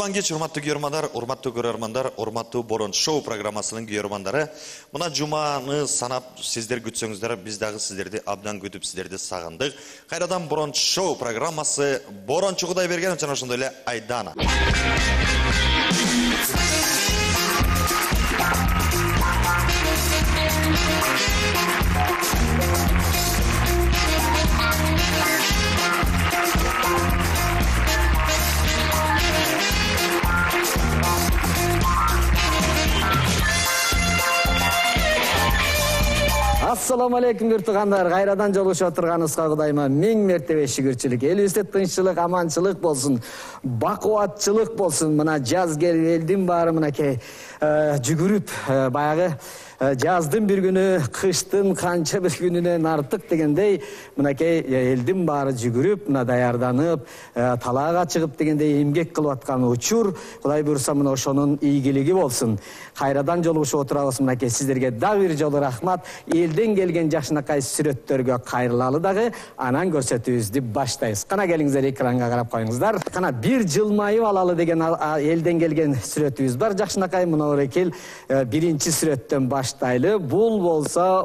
Кутман кеч, урматтуу көрөрмандар, урматтуу Борон шоу программасынын көрөрмандары. Мына жуманы санап сиздер күтсөңүздөр, биз дагы сиздерди абдан күтүп, сиздерди сагындык. Кайрадан Борон шоу программасы Борончу Кудайберген жана ошондой эле Айдана. Assalamu alaikum биртугандар. Кайрадан жолугушуп отурганыбызга Кудайыма миң мертебе шүгүрчүлүк. Элибизде тынччылык, аманчылык болсун, бакубатчылык болсун. Мына жаз келип, элдин баары мынакей жүгүрүп, баягы жаздын бир күнү, кыштын канча бир күнүнөн артык дегендей, мынакей элдин баары жүгүрүп, мына даярданып, талаага чыгып дегендей эмгек кылып аткан учур. Кудай буйруса мына ошонун ийгилиги болсун. Кайрадан жолугушуп отурабыз мынакей сиздерге дагы бир жолу рахмат. Элден келген жакшынакай сүрөттөргө кайрылалы дагы, анан көрсөтүүбүздү баштайбыз. Кана келиңиздер, экранга карап коюңуздар. Кана бир жылмайып алалы деген элден келген сүрөтүбүз бар. Жакшынакай мына орекел биринчи сүрөттөн баштайлы. Бул болсо,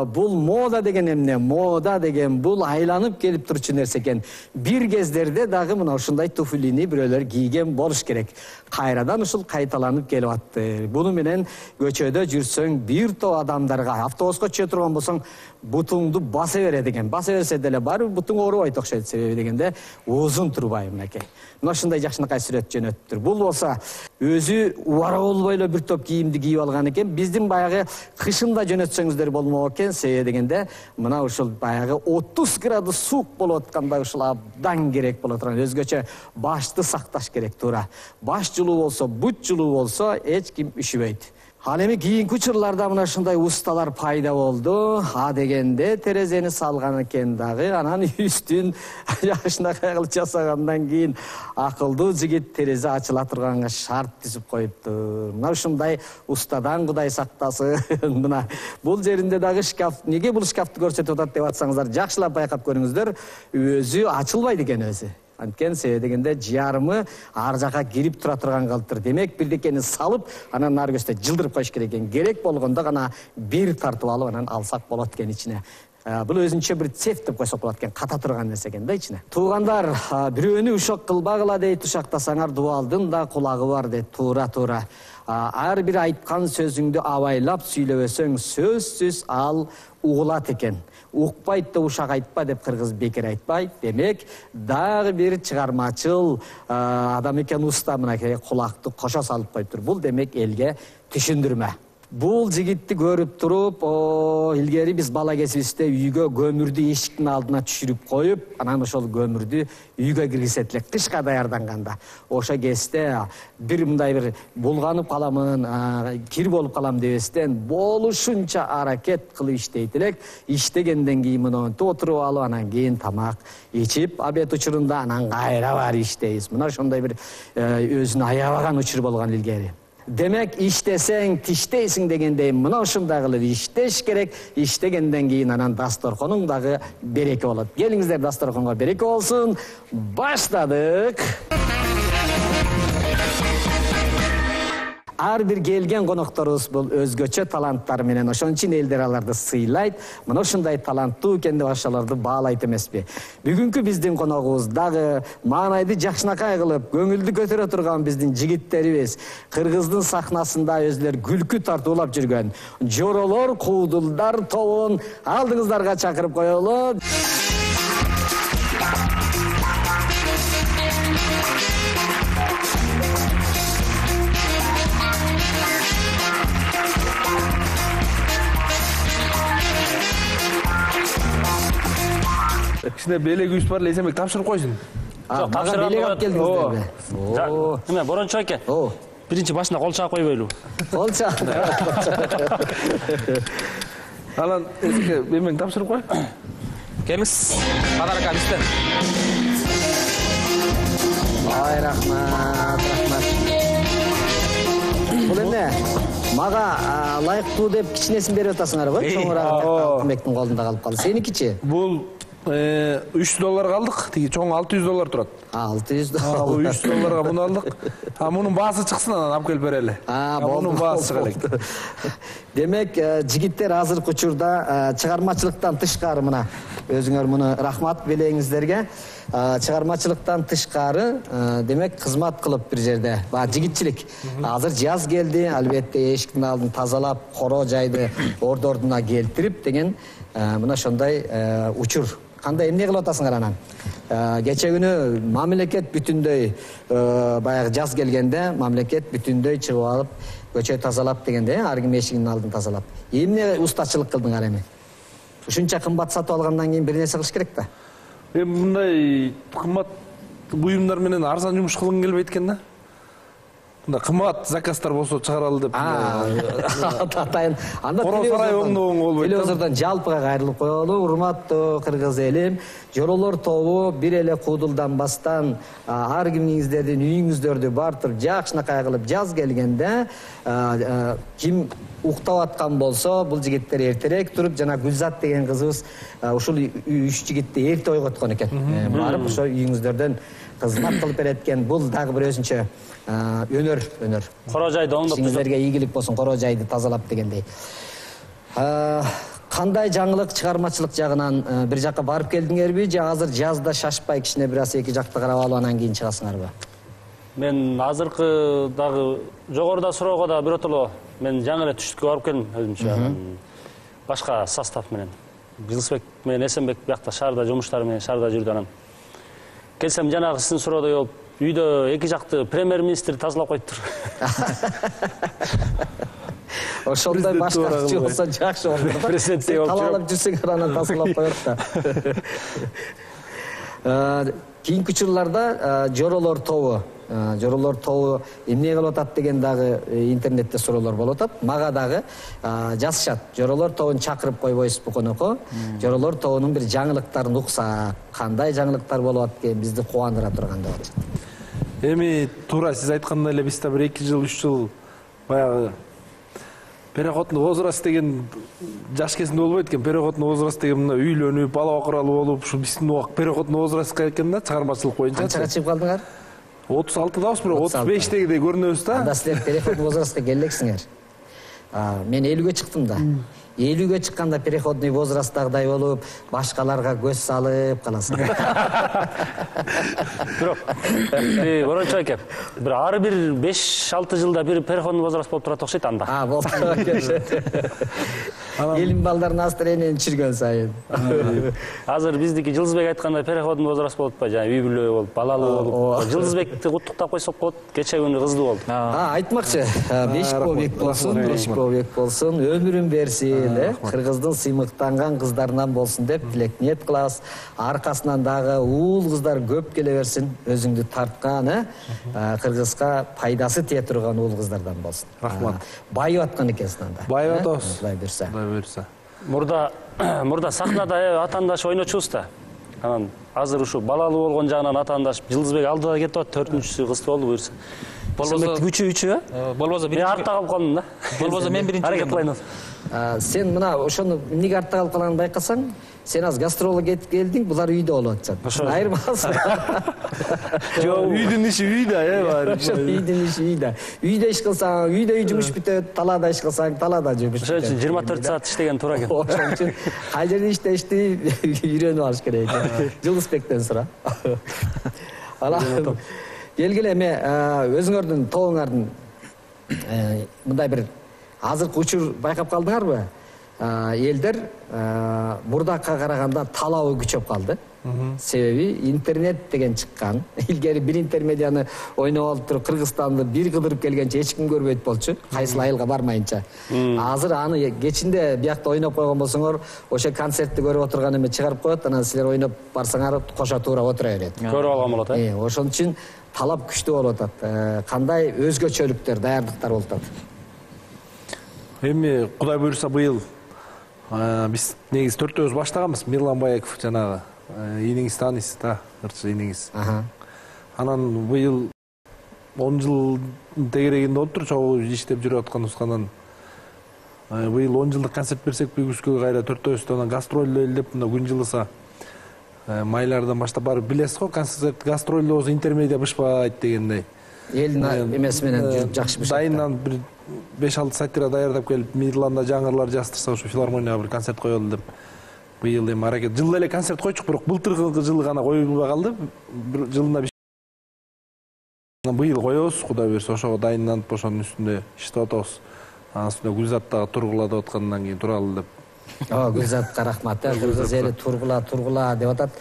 бул мода деген эмне? Мода деген бул айланып келип турчу нерсе экен. Бир кездерде дагы мына ушундай туфлини бирөөлөр кийген болуш керек. Кайрадан ушул кайталанып келип атты. Буну менен көчөдө жүрсөң бир топ адамдарга, автобуска чыга турган болсоң, бутуңду баса берет экен. Баса берсе деле баары бутуң оорубайт окшойт, себеби дегенде узун турбай мынакей. Мына ушундай жакшынакай сүрөт жөнөттүр. Бул болсо өзү убара болбой эле бир топ кийимди кийип алган экен. Биздин баягы кышында жөнөтсөңүздөр болмок экен, себеби дегенде мына ушул баягы 30 градус суук болуп атканда ушул абдан керек боло турган. Өзгөчө башты сакташ керек туура. Баш жылуу болсо, бут жылуу болсо эч ким үшүбөйт. Ал эми кийинки учурларда мына ушундай усталар пайда болду. Дегенде терезени салган экен дагы, анан үстүн жакшынакай кылып жасагандан кийин акылдуу жигит терезе ачыла турганга шарт түзүп коюптур. Мына ушундай устадан Кудай сактасын. Мына бул жеринде дагы шкаф. Неге бул шкафты көрсөтүп атат деп атсаңыздар, жакшылап байкап көрүңүздөр. Өзү ачылбайт экен өзү. Анткени себеби дегенде жарымы ар жака кирип тура турган калыптыр. Демек бирдекени салып, анан ары көстө жылдырып коюш керек экен. Керек болгондо гана бир тартып алып анан алсак болот экен ичине. Бул өзүнчө бир цеф деп койсок болот экен, ката турган нерсе экен да ичине. Туугандар, бирөөнү ушак кылбагыла дейт, ушактасаңар дубалдын да кулагы бар дейт. Туура. Ар бир айткан сөзүңдү абайлап сүйлөбөсөң, сөзсүз ал угулат экен. Укпайт да ушак айтпа деп кыргыз бекер айтпайт. Демек, дагы бир чыгармачыл адам экен уста мынакей кулакты кошо салып коюптур. Бул демек элге түшүндүрмө. Бул жигитти көрүп туруп, илгери биз бала кезибизде үйгө көмүрдү эшиктин алдына түшүрүп коюп, анан ошол көмүрдү үйгө киргизет элек кышка даярданганда. Ошо кезде бир мындай бир булганып каламын, кир болуп калам дебестен болушунча аракет кылып иштейт элек. Иштегенден кийин монтип отуруп алып, анан кийин тамак ичип, обед учурунда анан кайра барып иштейбиз. Мына ошондой бир өзүн аябаган учур болгон илгери. Демек, иштесең тиштейсиң дегендей, мына ушундай кылып иштеш керек. Иштегенден кийин анан дасторконуң дагы береке болот. Келиңиздер, дасторконго береке болсун. Баштадык. Ар бир келген конокторубуз бул өзгөчө таланттары менен, ошон үчүн элдер аларды сыйлайт. Мына ушундай таланттуу экен деп ошолорду баалайт эмеспи. Бүгүнкү биздин коногубуз дагы маанайды жакшынакай кылып, көңүлдү көтөрө турган биздин жигиттерибиз. Кыргыздын сахнасында өзлөр күлкү тартуулап жүргөн Жоролор Куудулдар тобун алдыңыздарга чакырып коелу. Кичине белек үйүс бар, Эсенбек тапшырып койсун. Мага белек алып келдиңиздерби? Эме, Борончу аке. Биринчи башына кол чаап койбойлу. Кол чаап. Анан Эсенбек эмеңди тапшырып кой. Келиңиз. Кадар ака бизден. Ой, рахмат. Бул эмне? Мага ылайыктуу деп кичинесин берип атасыңарбы? Чоңураак Эсенбектин колунда калып калды. Сеникичи? Бул $3 алдык. Тиги чоң $600 турат. $600. Бул $3 муну алдык. Мунун баасы чыксын анан алып келип берели. Мунун баасы чыга элек. Демек, жигиттер азыркы учурда чыгармачылыктан тышкары мына өзүңөр муну рахмат белеңиздерге. Чыгармачылыктан тышкары демек кызмат кылып бир жерде. Жигитчилик. Азыр жаз келди, албетте эшиктин алдын тазалап, коро жайды ордуна келтирип деген мына ошондой учур. Кандай эмне кылып атасыңар анан? Кече күнү мамлекет бүтүндөй баягы жаз келгенде мамлекет бүтүндөй чыгып алып көчө тазалап дегенде, ар ким эшигинин алдын тазалап. Эмне устачылык кылдыңар эми? Ушунча кымбат сатып алгандан кийин бир нерсе кылыш керек да. Эми мындай кымбат буюмдар менен арзан жумуш кылгың келбейт экен да. Мында кымбат заказдар болсо чыгаралы деп. Атайын. Анда телевизордон жалпыга кайрылып коелу. Урматтуу кыргыз элим, Жоролор тобу бир эле куудулданбастан ар кимиңиздердин үйүңүздөрдү бартып жакшынакай кылып жаз келгенде ким уктап аткан болсо, бул жигиттер эртерээк туруп, жана Гүлзат деген кызыбыз ушул 3 жигитти эрте ойготкон экен. Барып ошо үйүңүздөрдөн кызмат кылып берет экен. Бул дагы бир өзүнчө өнөр. Коро жайды оңдоп сиңиздерге ийгилик болсун, коро жайды тазалап дегендей. Кандай жаңылык чыгармачылык жагынан бир жакка барып келдиңерби же азыр жазда шашпай кичине бир аз эки жакты карап алып анан кийин чыгасыңарбы? Мен азыркы дагы жогоруда суроого да биротоло мен жаңы эле түштүккө барып келдим өзүмчө. Башка состав менен. Жылысбек менен Эсенбек биякта шаарда жумуштары менен шаарда жүрдү анан. Келсем жанагы сиздин суроодой болуп, үйдө эки жакты премьер-министр тазалап коюптур. Ошондой башка киши болсо жакшы болот. Президенттей болуп талаалап жүрсөңөр анан тазалап коет да. Кийинки учурларда Жоролор тобу эмне кылып атат деген дагы интернетте суроолор болуп атат. Мага дагы жазышат. Жоролор тобун чакырып койбойсузбу конокко? Жоролор тобунун бир жаңылыктарын уксак, кандай жаңылыктар болуп атат экен бизди кубандыра турган деп атышат. Эми туура сиз айткандай эле биз да бир 2 жыл 3 жыл баягы переходный возраст деген жаш кезинде болбойт экен. Переходный возраст деген мына үйлөнүп, бала окуралуу болуп, ушу биздин убак переходный возрастка экен да, чыгармачылык боюнча. Канчага чыгып калдыңар? 36-дабыз, бирок 35-тегидей көрүнөбүз да. Анда силер переходный возрастка келексиңер. Мен 50-ге чыктым да. 50-ге чыкканда переходный возрасттагыдай болуп, башкаларга көз салып каласың. Бирок, Борончо эке, бир ар бир 5-6 жылда бир переходный возраст болуп турат окшойт анда. Болуп турат. Элим балдар настроениени түшүргөн сайын. Азыр биздики Жылдызбек айткандай переходный возраст болуп атпайбы, жана үй бүлө болуп, балалуу болуп. Жылдызбекти куттуктап койсок болот, кече күнү кыздуу болду. Айтмакчы, бешик болбек болсун, өмүрүн берсин, кыргыздын сыймыктанган кыздарынан болсун деп тилек ниет кылабыз. Аркасынан дагы уул кыздар көп келе берсин, өзүңдү тарткан, кыргызга пайдасы тие турган уул кыздардан болсун. Рахмат. Байып аткан экенсиң анда. Байып атабыз. Кудай буйрса. Мурда сахнада атаандаш ойночубуз да. Анан азыр ушу балалуу болгон жагынан атаандаш Жылдызбек алдыда кетип атат, 4-үнчүсү кыз болду буйрса. Болбосо үчү, болбосо мен артта калып калдым да. Болбосо мен биринчи. Аракет кылайын. Сен мына ошону эмнеге артта калып калганын байкасаң, сен аз гастролго кетип келдиң, булар үйдө болуп атышат. Айырмасы. Жок, үйдүн иши үйдө, баары. Үйдүн иши үйдө. Үйдө иш кылсаң, үйдө жумуш бүтөт, талаада иш кылсаң, талаада жумуш бүтөт. Ошон үчүн 24 саат иштеген туура экен. Ошон үчүн кай жерде иштешти үйрөнүп алыш керек. Жылдызбектен сура. Алам. Келгиле эме өзүңөрдүн тобуңардын мындай бир азыркы учур байкап калдыңарбы? Элдер мурдакка караганда талабы күчөп калды. Себеби интернет деген чыккан. Илгери бир интермедияны ойноп алып туруп Кыргызстанды бир кыдырып келгенче эч ким көрбөйт болчу. Кайсыл айылга бармайынча. Азыр аны кечинде биякта ойноп койгон болсоңор, ошо концертти көрүп отурган эме чыгарып коет, анан силер ойноп барсаңар кошо туура отура берет. Көрүп алган болот, Ошон үчүн талап күчтүү болуп атат. Кандай өзгөчөлүктөр, даярдыктар болуп атат? Эми Кудай буйрса быйыл биз негизи төртөөбүз баштаганбыз. Мирлан Баяков жанагы ийниңиз тааныйсыз да, ырчы ийниңиз. Анан быйыл 10 жыл тегерегинде болуптур, чогуу иштеп жүрүп атканыбыз. Анан быйыл 10 жылдык концерт берсек, бүгүскө кайра төртөөбүз анан гастроль элдеп, мына күн жылыса Майлардан баштап барып билесиз го, концерт гастролдо болсо интермедиа бышпайт дегендей. Элдин эмеси менен жүрүп жакшы бышат. Дайындан бир 5-6 сатира даярдап келип, Мидланда жаңырлар жаздырса, ошо филармонияга бир концерт коелу деп. Быйыл эми аракет. Жылда эле концерт койчук, бирок былтыркы жылы гана коюлбай калды. Бир жылында быйыл коебуз, Кудай берсе, ошого дайынданып ошонун үстүндө иштеп атабыз. Анын үстүнө Гүлзат дагы тургула деп аткандан кийин туралы деп. Гүлзатка рахмат. Кыргыз эли тургула деп атат.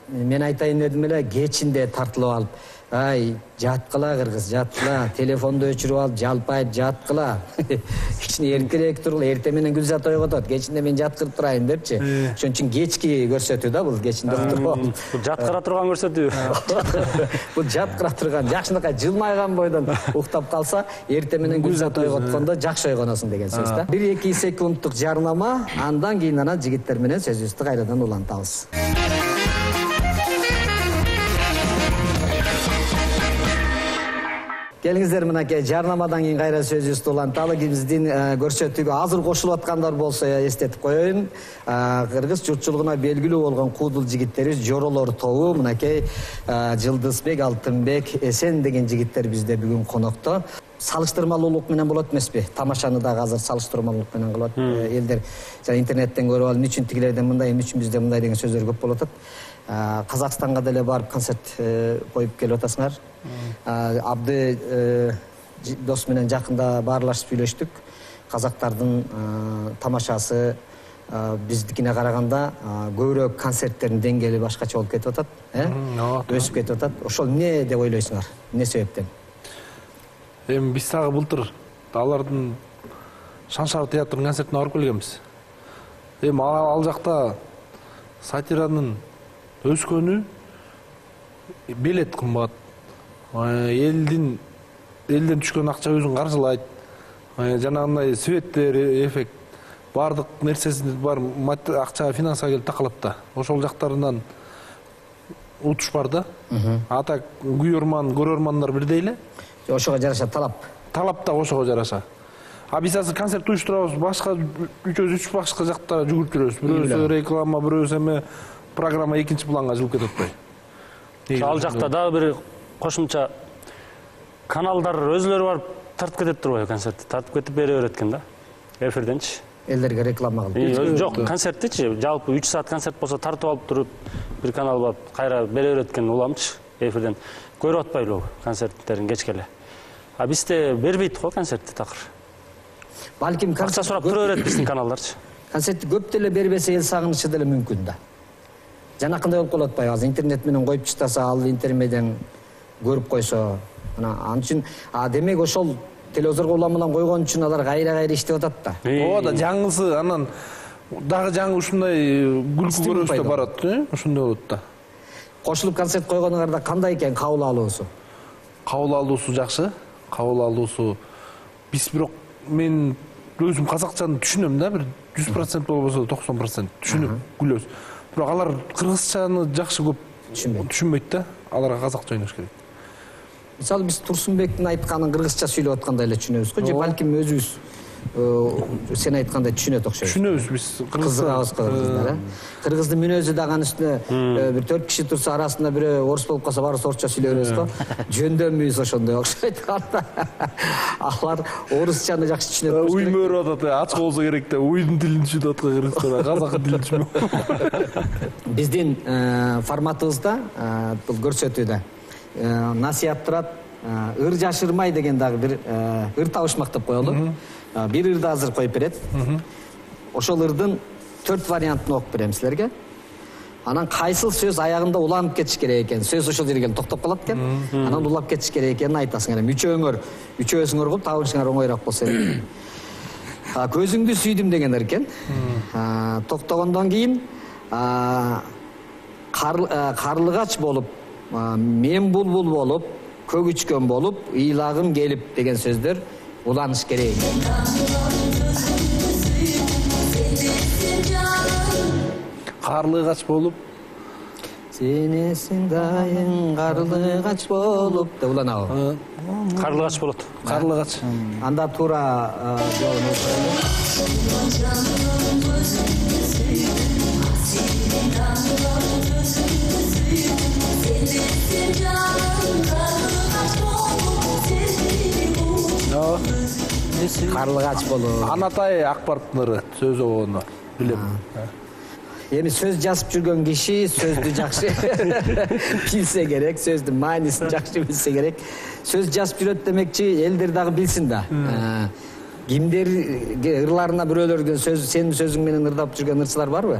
Мен айтайын дедим эле, кечинде тартылып алып, ай, жаткыла кыргыз, жаткыла, телефонду өчүрүп алып, жалпайып жаткыла. Кичине эркерээк тургула, эртең менен Гүлзат ойготот, кечинде мен жаткырып турайын депчи. Ошон үчүн кечки көрсөтүү да бул, кечинде туруп алып. Бул жаткыра турган көрсөтүү. Бул жаткыра турган, жакшынакай жылмайган бойдон уктап калса, эртең менен Гүлзат ойготкондо жакшы ойгоносуң деген сөз да. 1-2 секундтук жарнама, андан кийин ана жигиттер менен сөзүбүздү кайрадан улантабыз. Келиңиздер мынакей, жарнамадан кийин кайра сөзүбүздү уланталы. Биздин көрсөтүүгө азыр кошулуп аткандар болсо эстетип коеюн. Кыргыз журтчулугуна белгилүү болгон куудул жигиттерибиз Жоролор тобу, мынакей Жылдызбек, Алтынбек, Эсен деген жигиттер бизде бүгүн конокто. Салыштырмалуулук менен болот эмеспи? Тамашаны дагы азыр салыштырмалуулук менен кылат. Элдер жана интернеттен көрүп алып, үчүн тигилерден мындай, үчүн бизде мындай деген сөздөр көп болуп атат. Казакстанга деле барып концерт коюп келип атасыңар. Абды дос менен жакында баарлашып сүйлөштүк. Казактардын тамашасы биздикине караганда көбүрөөк концерттердин деңгээли башкача болуп кетип атат, өсүп кетип атат. Ошол эмне деп ойлойсуңар? Эмне себептен? Эми биз дагы былтыр алардын Шаншар театрынын концертине барып келгенбиз. Эми ал жакта сатиранын өскөнү билет кымбат. Элден түшкөн акча өзүн каржылайт. Жанагындай светтер, эффект, бардык нерсеси бар, акча финансага келип такалат да. Ошол жактарынан утуш бар да. Ата көрөрмандар бирдей эле. Ошого жараша талап. Талап да ошого жараша. Биз азыр концерт уюштурабыз, башка 3 башка жакта жүгүрүп жүрөбүз. Бирөөсү реклама, бирөөсү эме программа экинчи планга жылып кетип атпайбы. Ал жакта дагы бир кошумча каналдар өзүлөрү барып тартып кетип турбайбы концертти? Тартып кетип бере берет экен да. Эфирденчи. Элдерге реклама кылып. Жок, концерттичи, жалпы 3 саат концерт болсо тартып алып туруп, бир канал барып кайра бере берет экен уламчы эфирден. Көрүп атпайлыбы концерттерин кечке эле? Бизде бербейт го концертти такыр. Балким акча сурап тура берет биздин каналдарчы. Концертти көп деле бербесе эл сагынычы деле мүмкүн да. Жанакындай болуп калат атпайбы? Азыр интернет менен коюп чыктаса, ал интермедиан көрүп койсо, мына ал үчүн демек ошол телевизорго уламынан койгон үчүн алар кайра иштеп атат да. Ооба да, жаңысы анан дагы жаңы ушундай күлкү көрөбүз деп барат, ошондой болот да. Кошулуп концерт койгонуңарда кандай экен кабыл алуусу? Кабыл алуусу жакшы. Кабыл алуусу биз бирок мен өзүм казакчаны түшүнөм да, бир 100% болбосо 90% түшүнүп күлөбүз. Бирок алар кыргызчаны жакшы көп түшүнбөйт да. Аларга казакча ойнош керек. Мисалы биз Турсунбектин айтканын кыргызча сүйлөп аткандай эле түшүнөбүз го, же балким өзүбүз сен айткандай түшүнөт окшойбуз. Түшүнөбүз биз кыргызча кыргыздар. Кыргыздын мүнөзү дагы анын үстүнө бир 4 киши турса, арасында бирөө орус болуп калса, баарыбыз орусча сүйлөй беребиз го. Жөндөмүбүз ошондой окшойт. Алар орусчаны жакшы түшүнөт. Уй мөрүп атат, ачык болсо керек да. Уйдун тилин түшүнүп аткан кыргыздар, казак тилин түшүнбөйт. Биздин форматыбызда бул көрсөтүүдө насият турат. Ыр жашырмай деген дагы бир ыр табышмак деп коелу. Бир ырды азыр коюп берет. Ошол ырдын 4 вариантын окуп берем силерге. Анан кайсыл сөз аягында уланып кетиш керек экен. Сөз ошол жерге келип токтоп калат экен. Анан улап кетиш керек экенин айтасыңар. Үчөөсүңөр кылып табышыңар оңойраак болсо керек. Көзүңдү сүйдүм дегендер экен. Токтогондон кийин карлыгач болуп, мен булбул болуп, көгүчкөн болуп, ыйлагым келип деген сөздөр уланыш керек. Карлыгач болуп, сенесиң дайын карлыгач болуп деп уланабы? Карлыгач болот. Карлыгач. Анда туура жообун карлыгач болуп. Анатай Акбаровдун ыры сөз обону билем. Эми сөз жазып жүргөн киши сөздү жакшы билсе керек, сөздүн маанисин жакшы билсе керек. Сөз жазып жүрөт демекчи, элдер дагы билсин да. Кимдер ырларына бирөөлөргө сенин сөзүң менен ырдап жүргөн ырчылар барбы?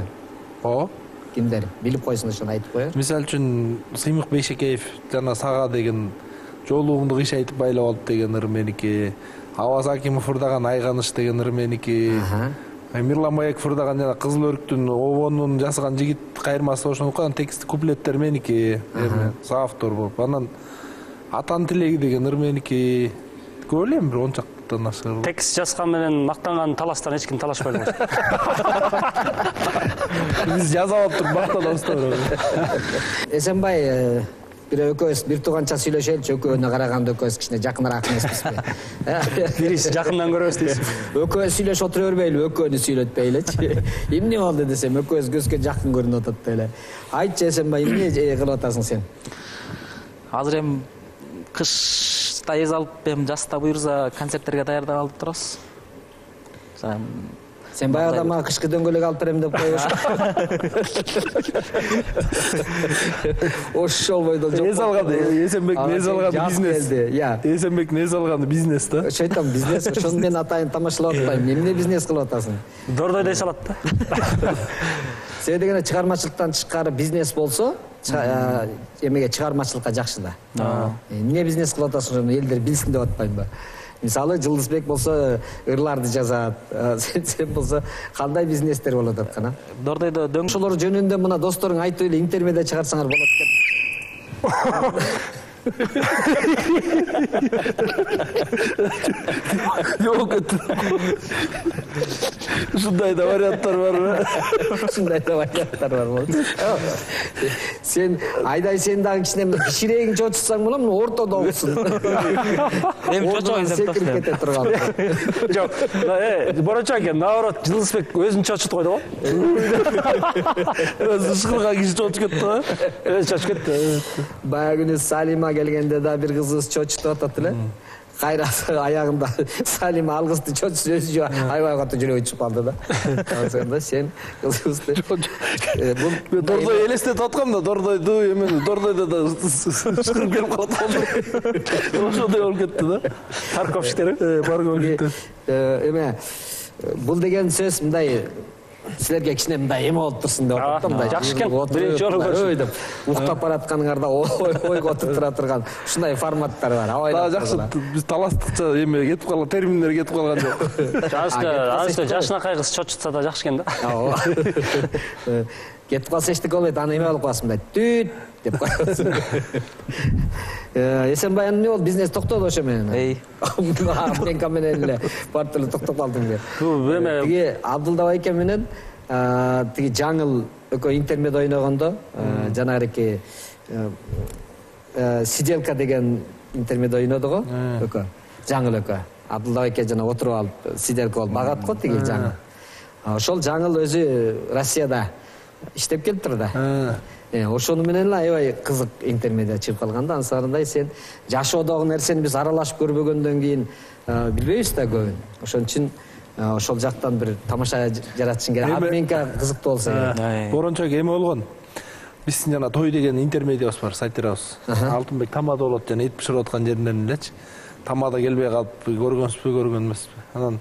Ооба. Кимдер? Билип койсун, ошону айтып коеюн. Мисалы үчүн Сыймык Бейшекеев жана Сага деген жолугумду кыш айтып байлап алып деген ыры меники. Аваз Акимов ырдаган Айганыш деген ыры меники. Мирлан Маек ырдаган жана Кызыл өрүктүн обонун жасаган жигит кайырмасы ошонуку текст куплеттер меники. Соавтор болуп. Анан Атанын тилеги деген ыр меники. Көп элем бир 10 чактан ашык. Текст жазган менен мактанган таластан эч ким талашпайды. Биз жазып алып туруп мактанабыз да. Эсенбай, экөөбүз бир тууганча сүйлөшөлүчү, экөөнө караганда экөөбүз кичине жакыныраак эмеспизби? Бирisi жакындан көрөбүз дейсиз. Экөөбүз сүйлөшүп отура бербейлиби, экөөнү сүйлөтпөйлүчү. Эмне болду десем, экөөбүз көзгө жакын көрүнүп атат эле. Айтчы Эсенбай, эмне кылып атасың сен? Азыр эми кышта эз алып, эми жазда буюрса концерттерге даярдап алып турабыз. Сен баягыда мага кышкы дөңгөлөк алып берем деп коюшуң. Ошол бойдон жок. Эз алган, Эсенбектин эз алган бизнес. Эсенбектин эз алган бизнес да. Ошо айтам, бизнес. Ошону мен атайын тамашалап атпайм. Эмне бизнес кылып атасың? Дордой дей салат да. Себеби дегенде чыгармачылыктан тышкары бизнес болсо, эмеге чыгармачылыкка жакшы да. Эмне бизнес кылып атасың, ошону элдер билсин деп атпаймынбы? Мисалы Жылдызбек болсо ырларды жазат, сен болсо кандай бизнестер болот аткан? Дордойдо Ошолор жөнүндө мына досторуң айтып эле интермедиа чыгарсаңар болот деп. Жок эт. Ушундай да варианттар барбы? Ушундай да варианттар бар болот. Сен айдай сен дагы кичине кичирээк чочутсаң болом, ортодо окусун. Эми чочойн деп секирип кете турган. Жок, борончо экен, наоборот, Жылдызбек өзүн чочутуп койду го. Өзү ышкырган киши чочуп кетти го. Өзү чочуп кетти. Баягы күнү Салима келгенде да бир кызыбыз чочутуп атат эле. Кайра аягында Салима алгысты чочусу өзү аябай катуу жүрөгү чыгып калды да. Ошондо сен кызыбызды Мен Дордой элестетип аткам да, Дордойду эмени, Дордойдо да ышкырып келип калат. Ошондой болуп кетти да. Парковщиктер. Парковщиктер. Эме бул деген сөз мындай силерге кичине мындай эме болуп турсун деп атат да, мындай. Жакшы экен. Биринчи жолу көрүшүп. Уктап баратканыңарда ойго отуруп тура турган ушундай форматтар бар. Дагы жакшы, биз таластыкча эме кетип калган, терминдер кетип калган жок. Азыр жашынакай кыз чочутса да жакшы экен да. Кетип калса эчтеке болбойт, аны эме болуп каласың мындай түт деп коесуң. Эсенбай эмне болду? Бизнес токтоду ошо менен. Мен менен эле бартылы токтоп калдым деп. Тиги Абдулда байке менен тиги жаңыл экөө интермед ойногондо жанагы сиделка деген интермед ойноду го экөө. Жаңыл экөө. Абдулда байке жана отуруп алып сиделка болуп багат го тиги жаңыл. Ошол жаңыл өзү Россияда иштеп келиптир да. Ошону менен эле аябай кызык интермедиа чыгып калган да. Ансарындай сен жашоодогу нерсени биз аралашып көрбөгөндөн кийин билбейбиз да көбүн. Ошон үчүн ошол жактан бир тамаша жаратышың керек. Меники кызыктуу болсо керек. Борончо эме болгон. Биздин жана той деген интермедиабыз бар, сайтырабыз. Алтынбек тамада болот жана эт биширип аткан жеринен элечи. Тамада келбей калып көргөнсүзбү, көргөн эмеспи. Анан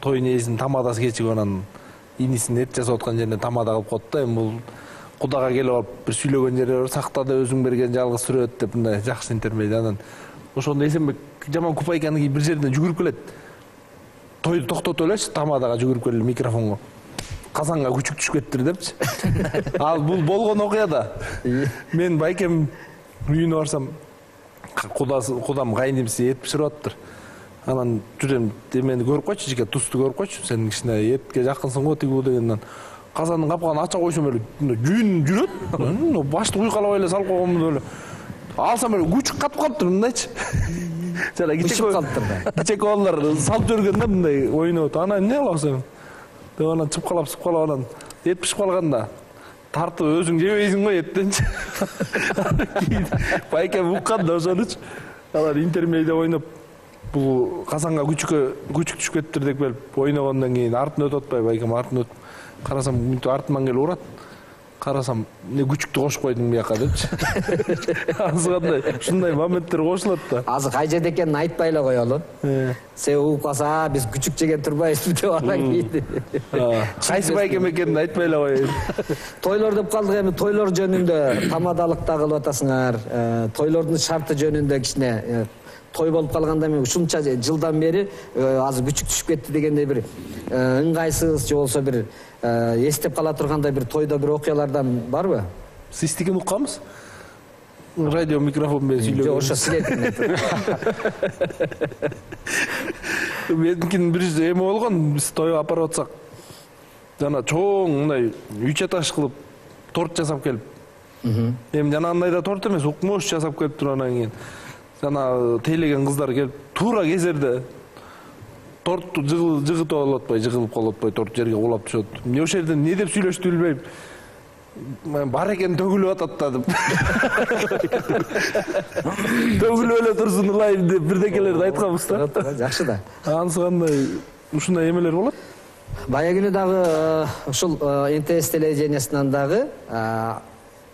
той нээсин тамадасы кечип анан инисин эт жасап аткан жерине тамада кылып коет да. Эми бул Кудага келип алып бир сүйлөгөн жери бар, сактады өзүң берген жалгыз сүрөт деп мындай жакшы интермедиа. Анан ошондо Эсенбек жаман купайканын бир жерден жүгүрүп келет. Тойду токтотуп элечи, тамадага жүгүрүп келип микрофонго. Казанга күчүк түшүп кеттир депчи. Ал бул болгон окуя да. Мен байкем үйүнө барсам, кудам кайнимси эт биширип атыптыр. Анан жүрөм, эмени көрүп койчу, жеке тусту көрүп койчу. Сен кичине этке жакынсың го тиги бу дегенден. Казандын капкагын ача койсом эле жүүн жүрөт. Башты уйкалабай эле салып койгонмун эле. Алсам эле күчүк катып калыптыр мындайчы. Жана кичек балдар салып жүргөн да мындай ойноп. Анан эмне кыласың? Деп анан чыпкалап анан эт пишип калганда тартып өзүң жебейсиң го эттенчи. Байке уккан да ошонучу. Алар интермедиа ойноп бул казанга күчүк түшүп кетиптир деп келип ойногондон кийин артын өтүп атпайбы, байкем артын өтүп карасам мүнтүп артыман келип урат. Карасам, эмне күчүктү кошуп койдуң бияка депчи. Азыр кандай ушундай моменттер кошулат да. Азыр кай жерде экенин айтпай эле коелу. Сен угуп калса, биз күчүк жеген турбайбызбы деп анан кийин. Кайсы байкем экенин айтпай эле коеюн. Тойлор деп калдык, эми тойлор жөнүндө тамадалыкта кылып атасыңар. Тойлордун шарты жөнүндө кичине той болуп калганда мен ушунча жылдан бери азыр күчүк түшүп кетти дегендей бир ыңгайсыз же болбосо бир эстеп кала тургандай бир тойдо бир окуялардан барбы? Сиздикин укканбыз? Радио микрофон менен сүйлөгөн. Жок, ошо силердикин. Меникин бир эме болгон, биз тойго апарып атсак, жана чоң мындай 3 этаж кылып торт жасап келип. Эми жанагындай да торт эмес, укмош жасап келип туруп анан кийин жана тейлеген кыздар келип туура кезерде торту жыгытып алып атпай, жыгылып калып атпай торт жерге кулап түшөт. Эмне ошол жерде эмне деп сүйлөштү билбейм. Бар экен төгүлүп атат да деп. Төгүлүп эле турсун ылайым деп бирдекелерди айтканбыз да. Жакшы да. Анысы кандай ушундай эмелер болот? Бая күнү дагы ушул НТС телевидениясынан дагы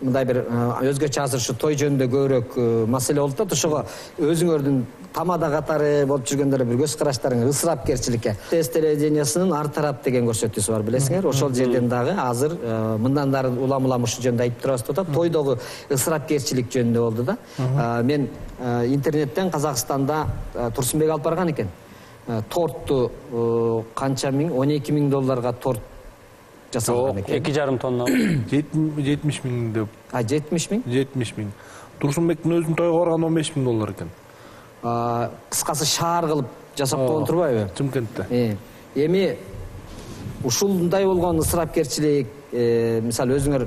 мындай бир өзгөчө азыр ушу той жөнүндө көбүрөөк маселе болуп атат. Ошого өзүңөрдүн тамада катары болуп жүргөндөр бир көз караштарың ысырапкерчиликке. ТС телевидениясынын ар тарап деген көрсөтүүсү бар, билесиңер. Ошол жерден дагы азыр мындан дары улам ушул жөнүндө айтып турабыз деп атат. Тойдогу ысырапкерчилик жөнүндө болду да. Мен интернеттен Казакстанда Турсунбек алып барган экен. Тортту канча миң, 12 000 долларга торт жасалган экен. 2,5 тонна. 70 000 деп. 70 000? 70 000. Турсунбектин өзүнүн тойго барган 15 000 доллар экен. Кыскасы шаар кылып жасап койгон турбайбы? Чымкентте. Эми ушундай болгон ысырапкерчилик, мисалы өзүңөр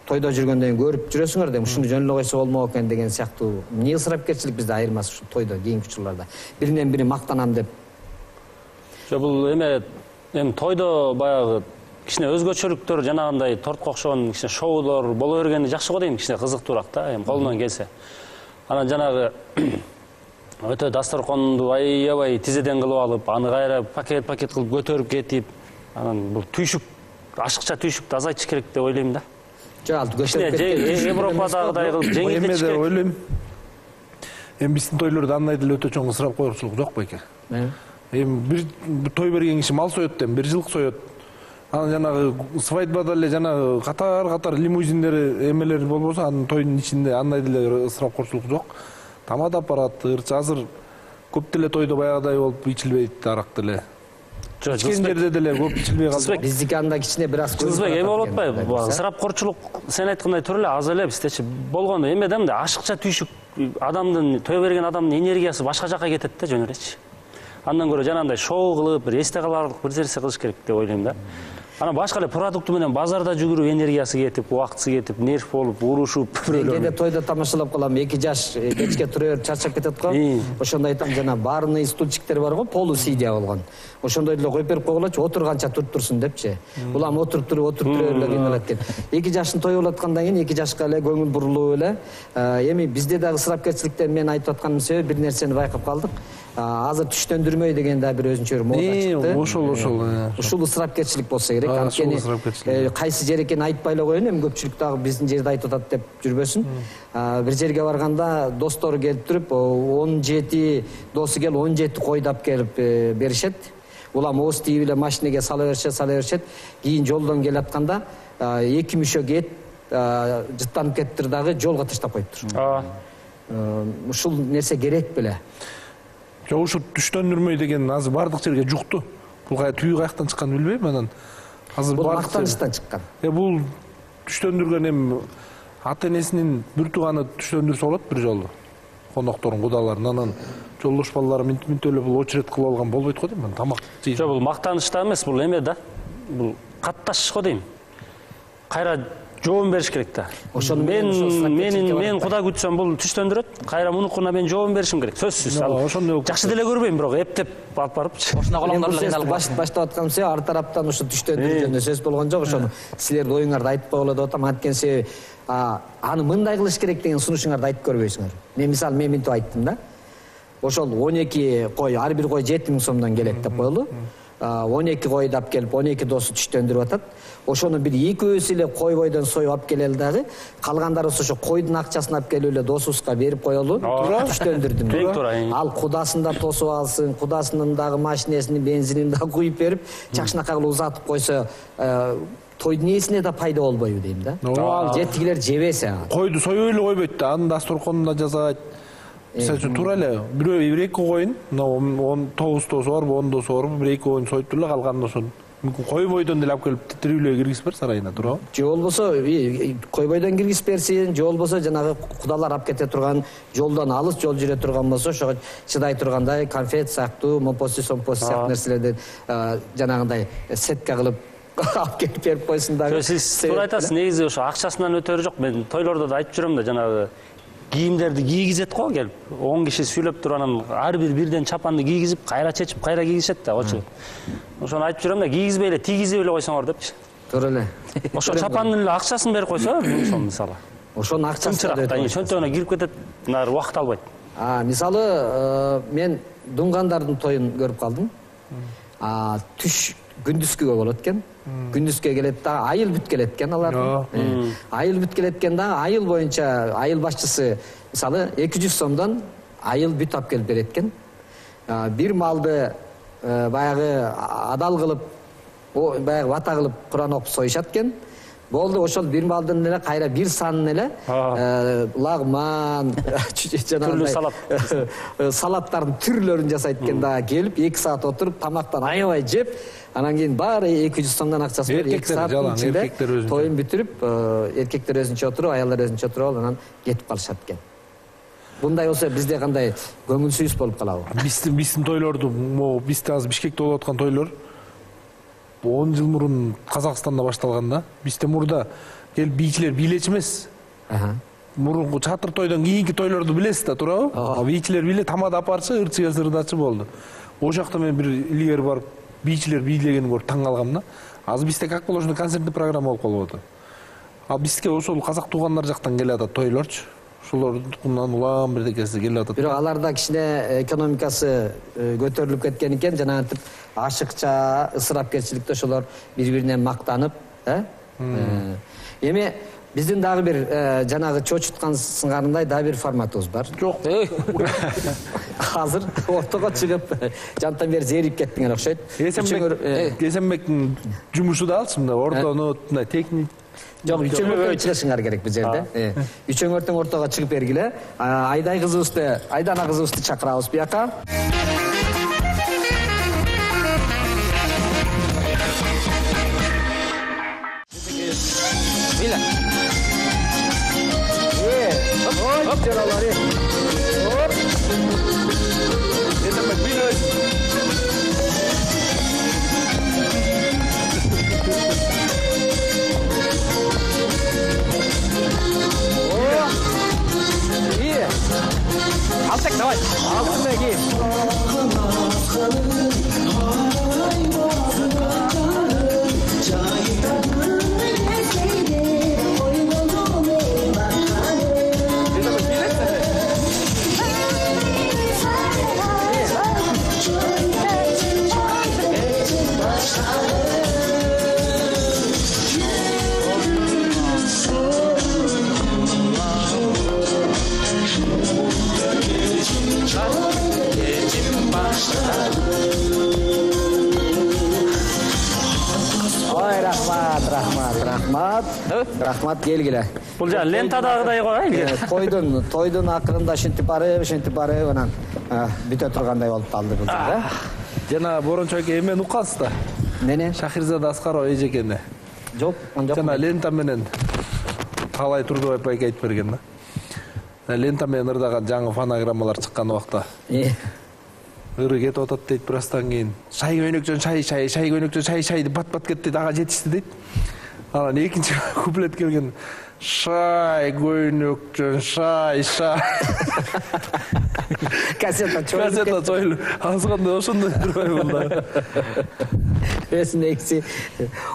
тойдо жүргөндөн көрүп жүрөсүңөр да, ушуну жөн эле койсо болмок экен деген сыяктуу. Эмне ысырапкерчилик бизде айырмасы ушу тойдо, кийинки учурларда. Биринен бири мактанам деп. Бул эми тойдо баягы кичине өзгөчөлүктөр жанагындай тортко окшогон кичине шоулор боло бергени жакшы го дейм, кичине кызыктуураак да, эми колунан келсе. Анан жанагы өтө дасторконду аябай тизеден кылып алып, аны кайра пакет кылып көтөрүп кетип, анан бул түйшүк, ашыкча түйшүктү азайтыш керек деп ойлойм да. Жок, ал көтөрүп кеткен. Европадагыдай кылып жеңилдетиш керек. Ойлойм. Эми биздин тойлордо андай деле өтө чоң ысырап коюрчулук жок байке. Эми бир той берген киши мал соет дейм, бир жылкы соет. Анан жанагы свадьбада эле жанагы катар лимузиндер эмелер болбосо, анын тойдун ичинде андай деле ысырап коюрчулук жок. Тамада аппарат, ырчы азыр көп деле тойдо баягыдай болуп ичилбейт арак деле. Ичкен жерде деле көп ичилбей калды. Биздики анда кичине бир аз Кызбек эме болуп атпайбы? Ысырапкорчулук сен айткандай түрү эле аз эле биздечи болгону эме да, мындай ашыкча түйшүк адамдын той берген адамдын энергиясы башка жака кетет да жөн элечи. Андан көрө жанагындай шоу кылып, бир эсте каларлык бир нерсе кылыш керек деп ойлойм да. Анан башка эле продукты менен базарда жүгүрүп энергиясы кетип, убактысы кетип, нерв болуп, урушуп, кээде тойдо тамашалап калам, 2 жаш кечке тура берип чарчап кетет го. Ошондо айтам, жана барный стульчиктер бар го, полусидия болгон. Ошондой деле коюп берип койгулачы, отурганча туруп турсун депчи. Улам отуруп туруп эле кыйналат экен. 2 жаштын тою болуп аткандан кийин 2 жашка эле көңүл бурулуп эле. Эми бизде дагы ысырапкерчиликтен мен айтып атканым себеби бир нерсени байкап калдык. Азыр түштөндүрмөй деген да бир өзүнчө бир мода чыкты. Ошол. Ушул ысырапкерчилик болсо керек. Анткени кайсы жер экенин айтпай эле коеюн, эми көпчүлүк дагы биздин жерде айтып атат деп жүрбөсүн. Бир жерге барганда достору келип туруп, 17 досу келип 17 койдап келип беришет. Улам ооз тийип эле машинеге сала беришет. Кийин жолдон келатканда 2 мүшө кет жыттанып кеттир дагы жолго таштап коюптур. Ушул нерсе керек беле? Жок, ушу түштөндүрмөй деген азыр бардык жерге жукту. Бул түйү каяктан чыкканын билбейм, анан азыр мактанычтан чыккан. Бул түштөндүргөн эми ата-энесинин бир тууганы түштөндүрсө болот бир жолу. Конокторун, кудаларын, анан жолдош балалары минтип эле бул очерет кылып алган болбойт го дейм, тамак жейт. Жок, бул мактаныч да эмес, бул эме да. Бул катташ го дейм. Кайра жообун бериш керек да. Мен куда күтсөм бул түштөндүрөт, кайра мунукуна мен жообун беришим керек. Сөзсүз. Жакшы деле көрбөйм, бирок эптеп алып барыпчы. Ошондо колоңдор эле кыйналып баштап атканым себеби ар тараптан ушу түштөндүрүү жөнүндө сөз болгон жок. Ошону силердин оюңарды айтып койгула деп атам. Анткени себеби аны мындай кылыш керек деген сунушуңарды айтып көрбөйсүңөр. Мен мисалы минтип айттым да. ошол 12 кой, ар бир кой 7 000 сомдон келет деп коелу. 12 койду алып келип 12 досу түштөндүрүп атат. Ошону бир экөөсү эле кой бойдон союп алып келели дагы, калгандарыбыз ошо койдун акчасын алып келип эле досубузга берип коелу. Түштөндүрдүм. Ал кудасын да тосуп алсын, кудасынын дагы машинесинин бензинин да куюп берип, чакшынакай кылып узатып койсо, тойдун ээсине да пайда болбойбу дейм да. Жетигилер жебесе. Койду союп эле койбойт да, анын дасторконуна жазат. Мисалы үчүн туура эле бирөө бир эки коюн, 9 досу бар, 10 досу бар, бир эки коюн союп эле калганын ошон мүмкүн кой бойдон деле алып келип тирүүлөй киргизип бер сарайына, туурабы? Же болбосо кой бойдон киргизип берсин, же болбосо жанагы кудалар алып кете турган жолдон алыс жол жүрө турган болсо, ошого чыдай тургандай конфет сыяктуу, момпоси, сомпоси сыяктуу нерселерден жанагындай сетка кылып алып келип берип койсун дагы. Сиз туура айтасыз, негизи ошо акчасынан өтөрү жок. Мен тойлордо да айтып жүрөм да, жанагы кийимдерди кийгизет го келип. 10 киши сүйлөп туруп анан ар бир бирден чапанды кийгизип, кайра чечип, кайра кийгизет да, очу. Ошону айтып жүрөм да, кийгизбей эле тийгизип эле койсоңор депчи. Туура эле. Ошо чапандын эле акчасын берип койсо, мисалы. Ошонун акчасын да чөнтөгүнө кирип кетет, нары убакыт албайт. Мисалы, мен дунгандардын тоюн көрүп калдым. Түш күндүзгүгө болот экен. Күндүзгө келет да, айыл бүт келет экен алар. Айыл бүт келет экен да, айыл боюнча айыл башчысы мисалы 200 сомдон айыл бүт алып келип берет экен. Бир малды баягы адал кылып, баягы вата кылып Куран окуп союшат экен. Болду, ошол бир малдын эле кайра бир санын эле лагман, жанагындай салаттардын түрлөрүн жасайт экен да, келип 2 саат отуруп тамактан аябай жеп, анан кийин баары 200 сомдон акчасын берип 2 сааттын ичинде тоюн бүтүрүп, эркектер өзүнчө отуруп, аялдар өзүнчө отуруп алып, анан кетип калышат экен. Мындай болсо бизде кандай көңүлсүз болуп калабы? Биздин тойлорду, бизде азыр Бишкекте болуп аткан тойлор 10 жыл мурун Казакстанда башталган да. Бизде мурда келип бийчилер бийлечи эмес. Мурунку чатыр тойдон кийинки тойлорду билесиз да, туурабы? Бийчилер биле тамада апарчы, ырчыга сырдачы болду. Ошол жакта мен бир илгери барып бийчилер бийлегенин көрүп таң калгам да. Азыр бизде как положено концерттик программа болуп калып атат. Ал бизге ошол казак туугандар жактан келип атат тойлорчу. Ошолордун улам бирдекеси келип атат. Бирок аларда кичине экономикасы көтөрүлүп кеткен экен, жанагынтип ашыкча, ысырапкерчиликте ошолор бири-биринен мактанып, Эми биздин дагы бир жанагы чочуткан сыңарындай дагы бир форматыбыз бар. Жок. Азыр ортого чыгып, жантан бери зерип кеттиңер окшойт. Эсенбектин жумушу да алчы мында ортону техник. Жок, үчөңөртөн чыгышыңар керек бул жерде. Үчөңөртөн ортого чыгып бергиле. Айдай кызыбызды, Айдана кызыбызды чакырабыз бияка. Биле. Ой, жаралары. Оп. Это биле. Алтек, давай. Алтын ки. Рахмат келгиле. Бул жана лентадагыдай го, Тойдун акырында шинтип барып, анан бүтө тургандай болуп калды бул жерде. Жана Борончо эке эмени уккансыз да? Эмне? Шахирзада Аскарова эжекени. Жок, жок. Жана лента менен Талай Турдубаев байке айтып берген да. Лента менен ырдаган жаңы фонограммалар чыккан убакта. Ыры кетип атат дейт, бирастан кийин шай көйнөкчөн шай көйнөкчөн шай деп бат кетти, ага жетишти дейт. Анан экинчи куплет келген шай көйнөкчөн шай. Кассета чойлу. Азганда ошондой турбайбы да. Эсинекси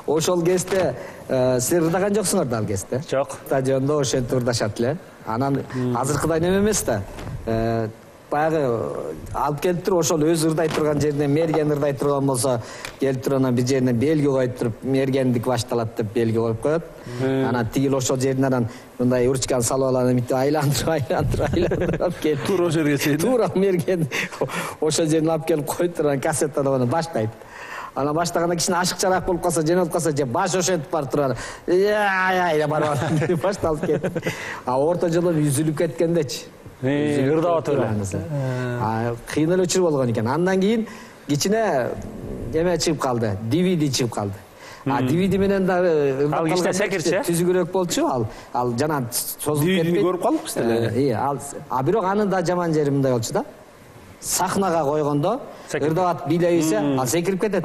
ошол кезде сиз ырдаган жоксуңар да ал кезде? Жок. Стадиондо ошентип ырдашат эле. Анан азыркыдай неме эмес да. баягы алып келип туруп ошол өзү ырдай турган жеринен мерген ырдай турган болсо келип туруп анан бир жерине белги коюп туруп мергендик башталат деп белги коюп коет. Анан тигил ошол жеринен анан мындай ручканы салып алып анан мынтип айландырып алып келип туура ошол жерге чейин туура мерген ошол жерине алып келип коюп туруп анан кассетадан анан баштайт. Анан баштаганда кичине ашыкчараак болуп калса, жеңилип калса, же баш ошентип барып туруп деп барып деп башталып кетти. А орто жолу үзүлүп кеткендечи. Ырдап эле. Кыйын эле учур болгон экен. Андан кийин кичине эме чыгып калды, DVD чыгып калды. DVD менен дагы ал кичине секирчи, түзүгүрөөк болчу. Ал жана созулуп кетти. DVD-ни көрүп калдык биз деле. Бирок анын да жаман жери мындай болчу да. Сахнага койгондо ырдап бийлей берсе, ал секирип кетет.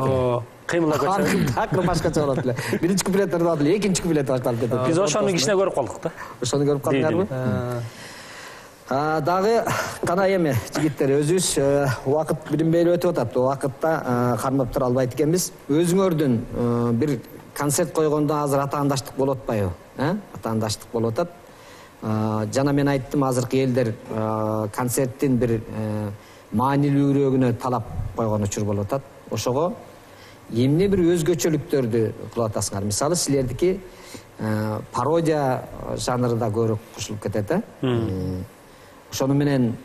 Кыймылдап кетсе. Такыр башкача болот эле. Биринчи куплет ырдап эле, экинчи куплет башталып кетет. Биз ошону кичине көрүп калдык да. Ошону көрүп калдыңарбы? Дагы кана эми жигиттер, өзүбүз убакыт билинбей өтүп атат. Убакытта кармап тура албайт экенбиз. Өзүңөрдүн бир концерт койгондо азыр атаандаштык болуп атпайбы? Атаандаштык болуп атат. Жана мен айттым, азыркы элдер концерттин бир маанилүүрөөгүнө талап койгон учур болуп атат. Ошого эмне бир өзгөчөлүктөрдү кылып атасыңар. Мисалы, силердики пародия жанрында көрүп кошулуп кетет, Ошону менен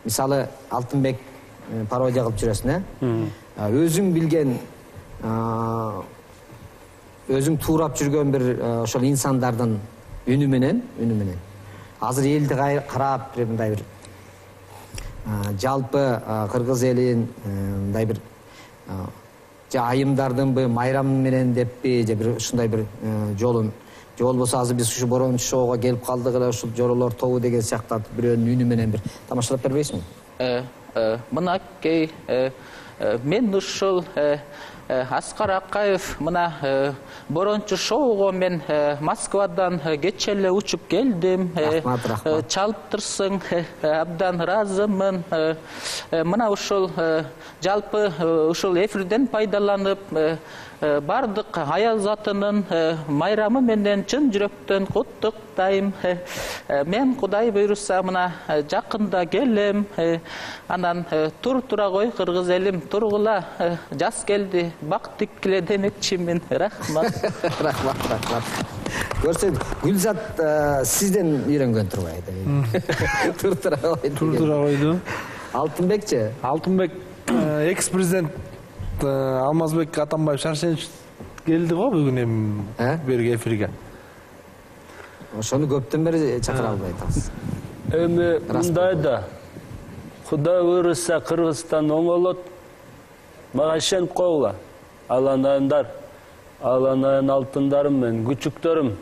мисалы Алтынбек пародия кылып жүрөсүң, Өзүң билген, өзүң туурап жүргөн бир ошол инсандардын үнү менен азыр элди карап мындай бир жалпы кыргыз элин мындай бир айымдардынбы, майрам менен деппи, же бир ушундай бир жолун, же болбосо азыр биз ушу Борончу шоуга келип калдык эле, ушул жоролор тобу деген сыяктуу бирөөнүн үнү менен бир тамашалап бербейсиңби? Мынакей мен ушул Аскар Акаев мына Борончу шоуго мен Москвадан кече эле учуп келдим. Чалыптырсың, абдан ыраазымын. Мына ушул жалпы ушул эфирден пайдаланып бардык аял затынын майрамы менен чын жүрөктөн куттуктайм. Мен Кудай буйруса мына жакында келем. Анан тура кой кыргыз элим, тургула, жаз келди, бак тиккиле демекчимин. Рахмат. Рахмат. Көрсөң, Гүлзат сизден үйрөнгөн турбайбы? Туртура койду. Алтынбекчи? Алтынбек экс-президент Алмазбек Атамбаев Шаршенович келди го бүгүн эми берге эфирге. Ошону көптөн бери чакыра албай атабыз. Эми мындай да. Кудай буйруса Кыргызстан оңолот. Мага ишенип койгула. Аланайымдар, аланайын алтындарым мен, күчүктөрүм.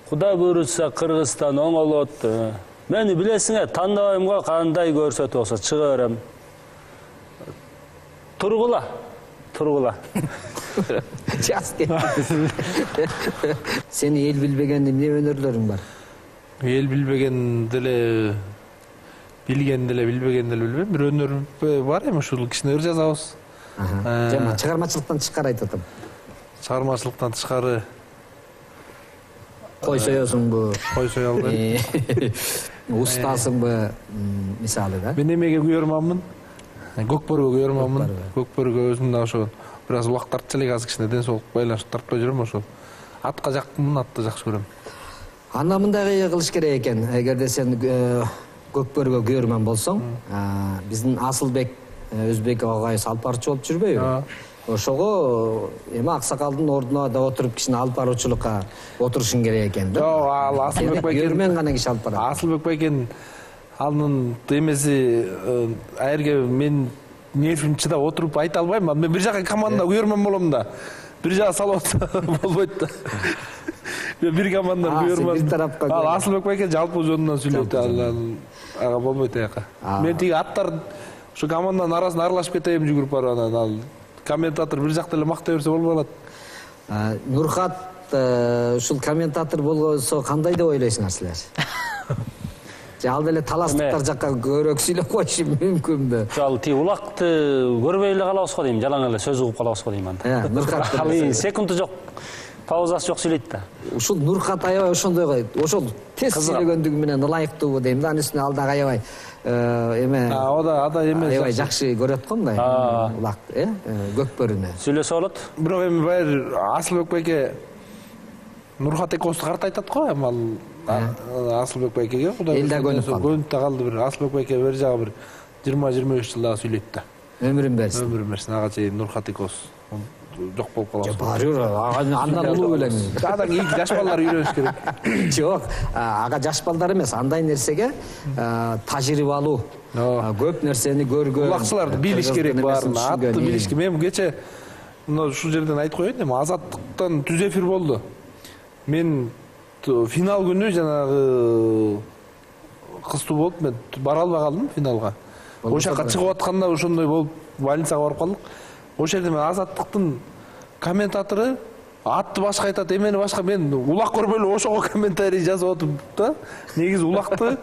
Кудай буйруса Кыргызстан оңолот. Мени билесиңер, тандабайм го, кандай көрсөтүп болсо чыга берем. Тургула. Жас кетти. Сени эл билбеген эмне өнөрлөрүң бар? Эл билбеген деле, билген деле, билбеген деле билбейм. Бир өнөр бар эми ушул кичине ыр жазабыз. Жана чыгармачылыктан тышкары айтып атам. Чыгармачылыктан тышкары Кой соёсуңбу? Кой сое албайм. Устасыңбы, мисалы да? Мен эмеге күйөрманмын. Көкбөргө күйөрманмын. Көкбөргө өзүм да ошо бир аз убакыт тартчу элек, азыр кичине ден соолук байланыштырып тартпай жүрөм ошол. Атка жакмын, атты жакшы көрөм. Анда мындай кылыш керек экен. Эгерде сен көкбөргө күйөрман болсоң, биздин Асылбек Өзбек агайыбыз алып барчу болуп жүрбөйбү? Ошого эми аксакалдын ордуна да отуруп кичине алып баруучулукка отурушуң керек экен да. Жок, ал Асылбек байке күйөрмөн гана киши алып барат. Асылбек байкен анын эмеси аерге мен нервим чыдап отуруп айта албайм. Мен бир жака команда күйөрмөн болом да. Бир жака салып атса болбойт да. Мен бир команда күйөрмөн. Ал Асылбек байке жалпы жөнүнөн сүйлөйт. Ага болбойт аяка. Мен тиги аттар ушу команданын арасына аралашып кетейин жүгүрүп барып анан ал комментатор бир жакта эле мактай берсе болбой калат. Нурхат ушул комментатор болгонсо кандай деп ойлойсуңар силер? Ал деле таластыктар жакка көбүрөөк сүйлөп коюшу мүмкүнбү? Ал тиги улакты көрбөй эле калабыз го дейм, жалаң эле сөз угуп калабыз го дейм анда. Нурхат ал секунду жок. Паузасы жок сүйлөйт да. Ушул Нурхат аябай ошондой ошол тез сүйлөгөндүгү менен ылайыктуу дейм да. Анын үстүнө ал дагы аябай эме ада эмес. аябай жакшы көрөт го мындай улак, көкпөрүнө. Сүйлөсө болот. Бирок эми баягы Асылбек байке Нурхат экөөсү карт айтат го, эми ал Асылбек байкеге Кудай көнүп да калды. Бир Асылбек байке бер жагы бир 20-25 жыл дагы сүйлөйт да. Өмүрүн берсин. Өмүрүн берсин. Ага чейин Нурхат экөөсү жок болуп калабыз. Баары андан улуу элем. Адан кийинки жаш балдар үйрөнүш керек. Жок, ага жаш балдар эмес, андай нерсеге тажрыйбалуу, көп нерсени көргөн. Улакчыларды билиш керек баарын, атты билиш керек. Мен кече мына ушул жерден айтып коеюн, эми Азаттыктан түз эфир болду. Мен финал күнү жанагы кыстуу болуп мен бара албай калдым финалга. Ошол жака чыгып атканда ошондой болуп больницага барып калдык. Ошол жерде мен Азаттыктын комментатору атты башка айтат, эмени башка, мен улак көрбөй эле ошого комментарий жазып отуп да. Негизи улакты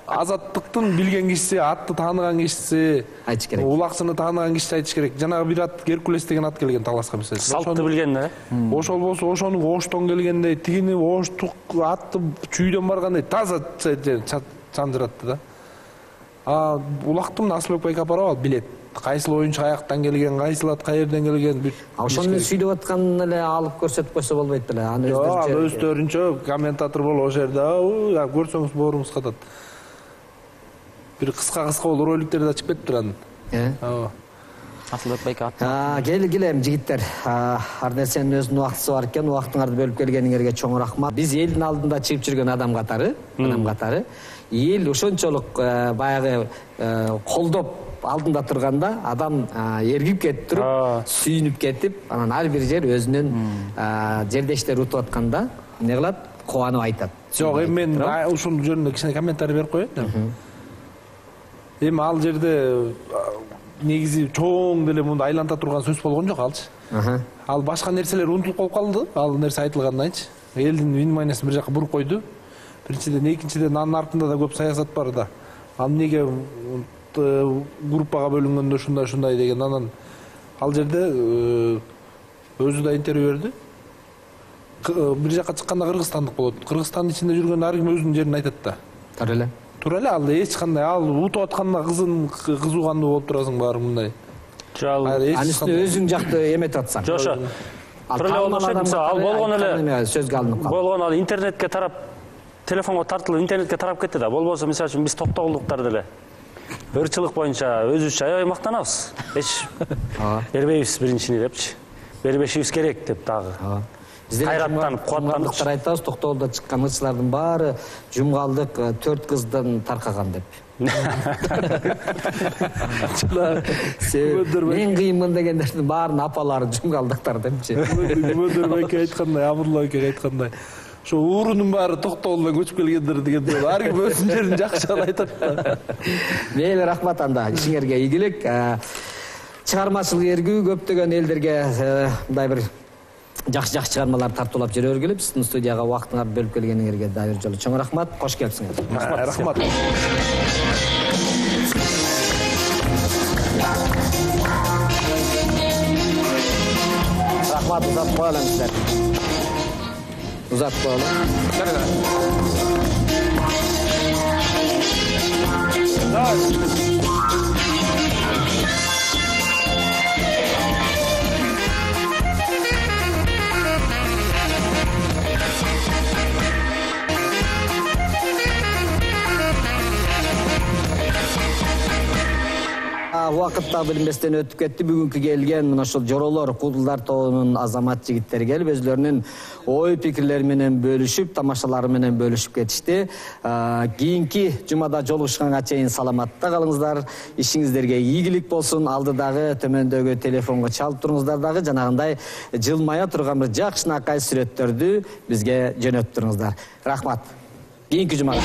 Азаттыктын билген кишиси, атты тааныган кишиси айтыш керек. Улакчыны тааныган кишиси айтыш керек. Жанагы бир ат Геркулес деген ат келген таласка мисалы. Салтты билген да. Ошол болсо ошону оштон келгендей, тигини оштук атты чүйдөн баргандай таза чандыратты да. Улактым Асылбек байке апарып ал билет. Кайсыл оюнчу каяктан келген, кайсыл ат каерден келген. Ошону сүйлөп атканын эле алып көрсөтүп койсо болбойт беле? Аны өздөрүнчө комментатор болуп ошол жерде көрсөңүз бооруңуз катат. Бир кыска болуп роликтерде чыгып кетиптир анын. Асылбек байке ат. Келгиле жигиттер. Ар нерсенин өзүнүн убактысы бар экен. Убактыңарды бөлүп келгениңерге чоң рахмат. Биз элдин алдында чыгып жүргөн адам катары, эл ошончолук баягы колдоп алдында турганда адам эргип кетип туруп, сүйүнүп кетип, анан ар бир жер өзүнүн жердештери утуп атканда эмне кылат? Кубанып айтат. Жок, эми мен ушул жөнүндө кичине комментарий берип коеюн. Эми ал жерде негизи чоң деле мындай айланта турган сөз болгон жок алчы. Ал башка нерселер унутулуп калып калды. Ал нерсе айтылганданчы. Элдин вниманиясын бир жака буруп койду. Биринчиден, экинчиден анын артында да көп саясат бар да. Ал эмнеге группага бөлүнгөндө ушундай деген, анан ал жерде өзү да интервью берди. Бир жака чыкканда кыргызстандык болот. Кыргызстандын ичинде жүргөн ар ким өзүнүн жерин айтат да. Туура эле, ал эч кандай ал утуп атканда кызуугандуу болуп турасың баары мындай. Анын үстүнө өзүң жакты эметип атсаң. Жошо. Тура эле болуш керек. Ал болгон эле сөзгө алынып калды. Болгон ал интернетке тарап, телефонго тартылып интернетке тарап кетти да. Болбосо мисалы үчүн биз токтогулдуктар деле ырчылык боюнча өзүбүзчө аябай мактанабыз. Эч бербейбиз биринчини депчи. Бербешибиз керек деп дагы. Кайраттанып, кубаттанып айтабыз, токтогулда чыккан ырчылардын баары жумгалдык 4 кыздан таркаган деп. Мен кыйынмын дегендердин баарын апалары жумгалдыктар депчи. Мөдөр байке айткандай, Абдулла байке айткандай. Ошо уурунун баары токтогулдан көчүп келгендер дегенде ар ким өзүнүн жерин жакшы айтат да. Мейли, рахмат анда. Ишиңерге ийгилик. Чыгармачылык эргүү көптөгөн элдерге мындай бир жакшы чыгармалар тартуулап жүрө бергиле. Биздин студияга убактыңарды бөлүп келгениңерге дагы бир жолу чоң рахмат. Кош келипсиңер. Рахмат. Рахмат, узатып коелу сиздер. Узатып коелу. Убакыт да билинбестен өтүп кетти. Бүгүнкү келген мына ушул жоролор, куудулдар тобунун азамат жигиттери келип өзлөрүнүн ой пикирлери менен бөлүшүп, тамашалары менен бөлүшүп кетишти. Кийинки жумада жолугушканга чейин саламатта калыңыздар. Ишиңиздерге ийгилик болсун. Алдыдагы төмөндөгү телефонго чалып туруңуздар дагы жанагындай жылмая турган бир жакшынакай сүрөттөрдү бизге жөнөтүп туруңуздар. Рахмат. Кийинки жумада.